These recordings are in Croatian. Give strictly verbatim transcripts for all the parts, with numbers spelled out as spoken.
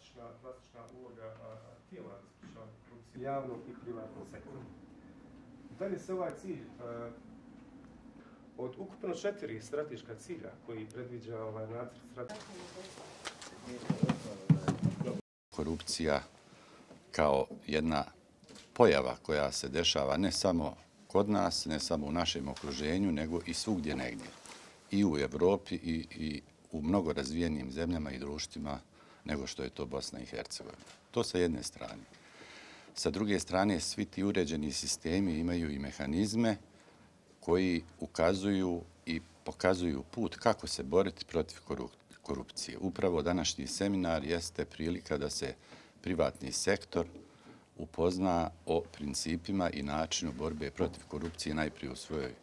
klasična, klasična uloga a, tijela za sprečavanje korupcije javnog i privatnog sektora. Da li se ovaj cilj a, od ukupno četiri strateška cilja koji predviđa ovaj nacrt strategije? Korupcija kao jedna pojava koja se dešava ne samo kod nas, ne samo u našem okruženju, nego i svugdje negdje. I u Evropi i, i u mnogo razvijenim zemljama i društvima nego što je to Bosna i Hercegovina. To sa jedne strane. Sa druge strane, svi ti uređeni sistemi imaju i mehanizme koji ukazuju i pokazuju put kako se boriti protiv korupcije. Upravo današnji seminar jeste prilika da se privatni sektor upozna o principima i načinu borbe protiv korupcije najprije u svojoj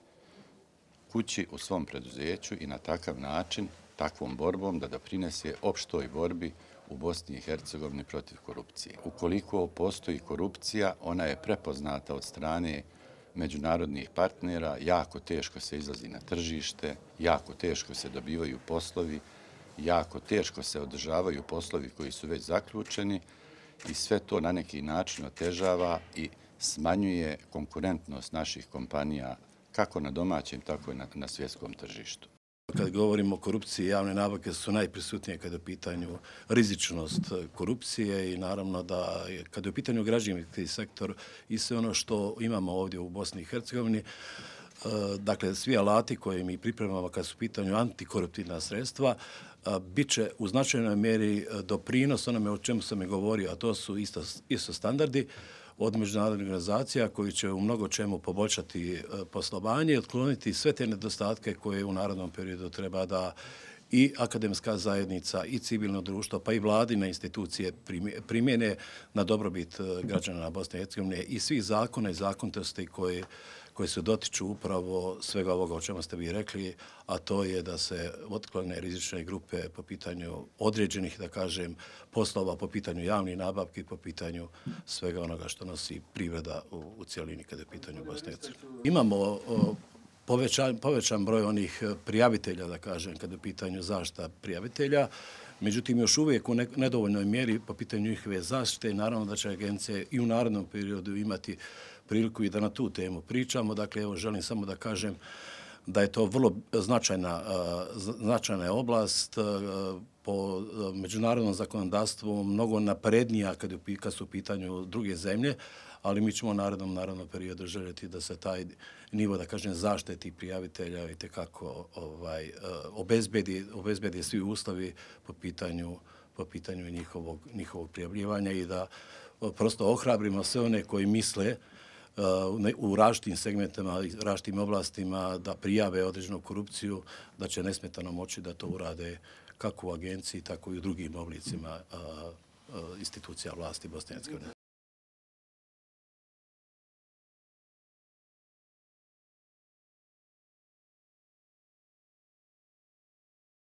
kući, u svom preduzeću i na takav način, takvom borbom da doprinese opštoj borbi u Bosni i Hercegovini protiv korupcije. Ukoliko postoji korupcija, ona je prepoznata od strane međunarodnih partnera, jako teško se izlazi na tržište, jako teško se dobivaju poslovi, jako teško se održavaju poslovi koji su već zaključeni i sve to na neki način otežava i smanjuje konkurentnost naših kompanija kako na domaćem, tako i na, na svjetskom tržištu. Kad govorimo o korupciji, javne nabavke su najprisutnije kada je u pitanju rizičnost korupcije i naravno da kada je u pitanju građevinski sektor i sve ono što imamo ovdje u Bosni i Hercegovini, dakle svi alati koje mi pripremamo kad su u pitanju antikoruptivna sredstva, bit će u značajnoj mjeri doprinos onome o čemu sam i govorio, a to su isto, isto standardi od međunarodnih organizacija koji će u mnogo čemu poboljšati poslovanje i otkloniti sve te nedostatke koje u narednom periodu treba da i akademska zajednica i civilno društvo, pa i vladine institucije primjene na dobrobit građana Bosne i Hercegovine i svih zakona i zakonitosti koje koji se dotiču upravo svega ovoga o čemu ste vi rekli, a to je da se otklone rizične grupe po pitanju određenih, da kažem, poslova, po pitanju javnih nabavki, po pitanju svega onoga što nosi privreda u, u cijelini kada je u pitanju Bosne i Hercegovine. Imamo o, povećan, povećan broj onih prijavitelja, da kažem, kada je u pitanju zaštita prijavitelja, međutim, još uvijek u nedovoljnoj mjeri po pitanju njihove zaštite i naravno da će agencije i u narednom periodu imati priliku i da na tu temu pričamo. Dakle, evo, želim samo da kažem da je to vrlo značajna, značajna oblast po međunarodnom zakonodavstvu, mnogo naprednija kad su u pitanju druge zemlje, ali mi ćemo u narednom, narednom periodu željeti da se taj nivo, da kažem, zaštite tih prijavitelja i tekako ovaj, obezbedi, obezbedi svi uslovi po pitanju, po pitanju njihovog, njihovog prijavljivanja i da prosto ohrabrimo sve one koji misle u različitim segmentima, različitim oblastima da prijave određenu korupciju, da će nesmetano moći da to urade kako u agenciji, tako i u drugim oblicima institucija vlasti Bosne i Hercegovine.